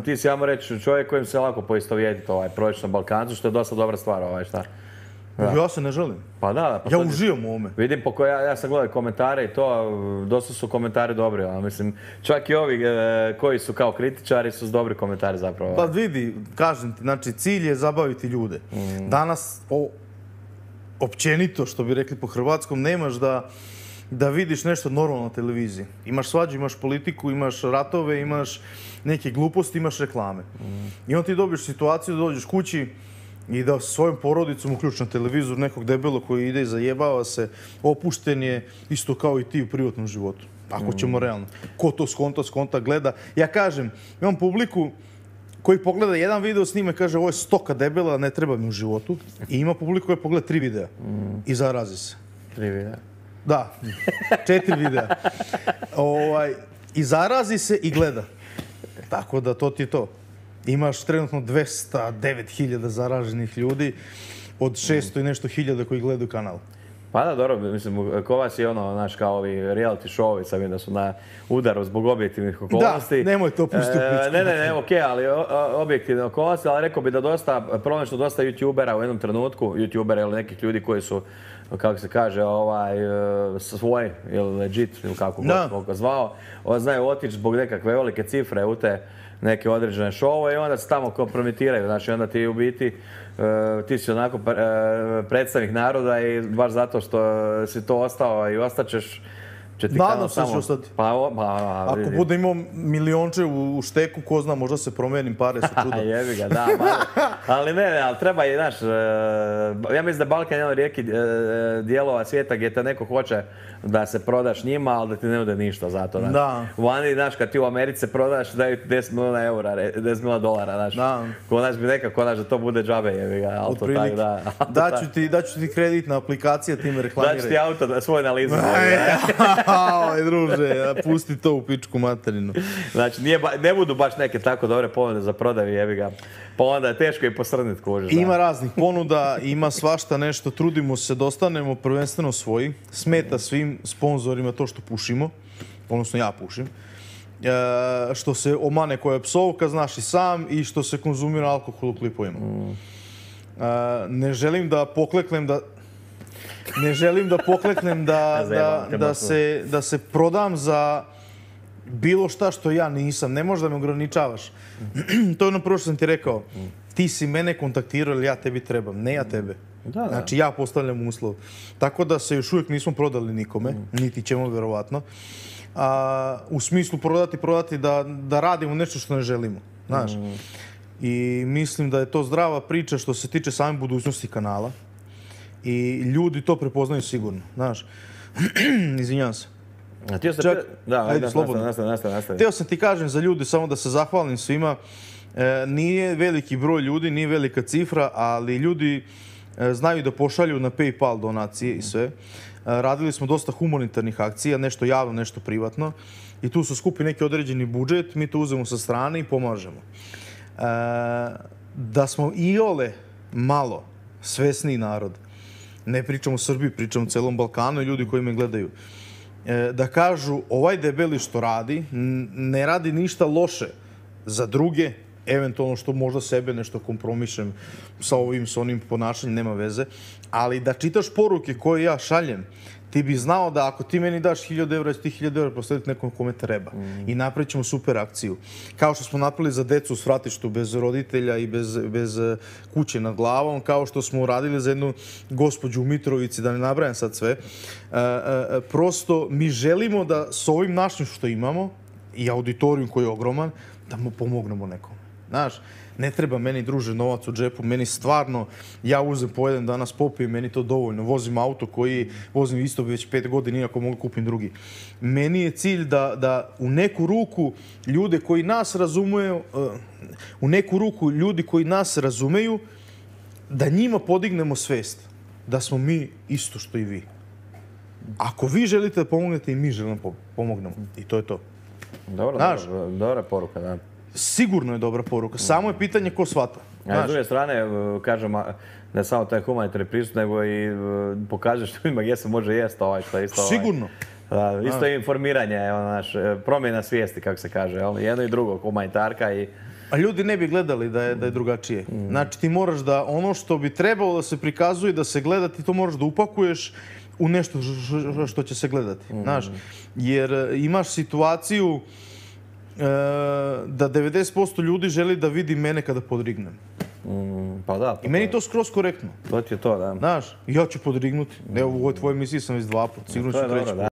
ti si, ajmo reći, čovjek kojim se lako poistovjetiti prosječnom Balkancu, što je dosta dobra stvar, šta. Ja se ne želim. Pa da. Ja uživam u ovome. Vidim ja sam gledao komentare i to, dosta su komentari dobri, mislim, čak i ovi koji su kao kritičari su dobri komentari zapravo. Pa vidi, kažem ti, znači cilj je zabaviti ljude. Danas, općenito, što bi rekli po hrvatskom, nemaš da vidiš nešto normalno na televiziji. Imaš svađu, imaš politiku, imaš ratove, imaš neke gluposti, imaš reklame. I onda ti dobiješ situaciju da dođeš kući i da svojom porodicom uključi na televizor nekog debelog koji ide i zajebava se, opušten je isto kao i ti u privatnom životu. Ako ćemo realno. Ko to skonta, gleda. Ja kažem, imam publiku koji pogleda jedan video s njime, kaže ovo je stoka debela, ne treba mi u životu. I ima publiku koja pogleda 3 videa i zarazi se. 3 videa? Da, 4 videa. I zarazi se i gleda. Tako da to ti je to. Imaš trenutno 209.000 zaraženih ljudi od 600 i nešto hiljada koji gledaju kanal. Pa da, dobro, mislim, ko vas je znaš, kao ovi reality showovi, sam vidim da su na udaru zbog objektivnih okolnosti. Da, nemoj to pustiti u priču. Ne, okej, ali objektivne okolnosti, ali rekao bi da problem što dosta youtubera u jednom trenutku, youtubera ili nekih ljudi koji su, kako se kaže, svoj ili legit, ili kako god ga zvao, znaju otići zbog nekakve velike cifre u te neke određene šove i onda se tamo kompromitiraju. Znači, onda ti u biti, ti si onako predstavnik naroda i baš zato što si to ostao i ostaćeš, će ti nadam se da će ostati. Ako bude imao milionče u šteku, ko zna, možda se promijenim, pare su čudo. Jebi ga, da. Ali ali treba i, znaš, ja mislim da Balkan je jedan od rijetkih dijelova svijeta gdje te neko hoće da se prodaš njima, ali da ti ne nude ništa za to. Da. Vani, znaš, kad ti u Americi prodaš, daju 10 milijuna eura, 10 milijuna dolara, znaš. Da. Konač bi nekako, znaš, da to bude džabe, jebi ga. Otprilike. Daću ti kreditna aplikacija, ti me reklamiraj. Daću ti auto svoj na leasing. Aj, druže, pusti to u pičku materinu. Znači, ne budu baš neke tako dobre ponude za prodaju, jebi ga. Pa onda je teško i posrnit kužiš. Ima raznih ponuda, ima svašta nešto, trudimo se da ostanemo prvenstveno svoji. Smeta svim sponzorima to što pušimo, odnosno ja pušim. Što se omane koja je psovka, znaš i sam, i što se konzumira alkohol u klipovima. Ne želim da pokleknem da se prodam za bilo šta što ja nisam. Ne možeš da me ograničavaš. To je ono prvo što sam ti rekao. Ti si mene kontaktirao ili ja tebi trebam. Ne ja tebe. Znači ja postavljam uslov. Tako da se još uvijek nismo prodali nikome. Niti ćemo vjerovatno. U smislu prodati da radimo nešto što ne želimo. Znaš. I mislim da je to zdrava priča što se tiče same budućnosti kanala. I ljudi to prepoznaju sigurno, znaš. Izvinjavam se. Ajde, slobodno. Nastavi. Htio sam ti kažem za ljude, samo da se zahvalim svima. Nije veliki broj ljudi, nije velika cifra, ali ljudi znaju da pošalju na PayPal donacije i sve. Radili smo dosta humanitarnih akcija, nešto javno, nešto privatno. I tu su skupi neki određeni budžet, mi to uzemo sa strane i pomažemo. Da smo iole malo svesniji narod, ne pričam o Srbiji, pričam o celom Balkanu i ljudi koji me gledaju, da kažu ovaj debeli što radi, ne radi ništa loše za druge, eventualno što možda sebe nešto kompromišem sa onim ponašanjem, nema veze, ali da čitaš poruke koje ja šaljem, ti bi znao da ako ti meni daš 1000 evra, ti 1000 evra proslediti nekom kome treba. I napravit ćemo super akciju. Kao što smo napravili za decu u svratištu bez roditelja i bez kuće nad glavom, kao što smo uradili za jednu gospođu u Mitrovici, da ne nabrajam sad sve. Prosto mi želimo da s ovim našim što imamo i auditorijum koji je ogroman, da mu pomognemo nekom. Znaš, ne treba meni, druže, novac u džepu, meni stvarno, ja uzem po jedan danas popijem, meni to dovoljno. Vozim auto koji vozim isto već 5 godina, iako mogu kupim drugi. Meni je cilj da u neku ruku ljude koji nas razumeju, da njima podignemo svest da smo mi isto što i vi. Ako vi želite da pomognete, i mi želimo da pomognemo. I to je to. Dobra poruka, da. Sigurno je dobra poruka. Samo je pitanje ko shvata. A s druge strane, kažem, ne samo taj humanitarni pristup, nego i pokažeš ljudima gdje se može jesti što je isto. Sigurno. Isto je informiranje, promjena svijesti, kako se kaže. Jedno i drugo, humanitarka i A ljudi ne bi gledali da je drugačije. Znači ti moraš da ono što bi trebalo da se prikazuje, da se gleda, ti to moraš da upakuješ u nešto što će se gledati. Znaš, jer imaš situaciju da 90% ljudi želi da vidi mene kada podrignem. Pa da. I meni je to skroz korektno. To ti je to, da. Znaš, ja ću podrignuti. Evo u ovoj tvojoj emisiji sam već 2 puta, sigurno ću 3 puta.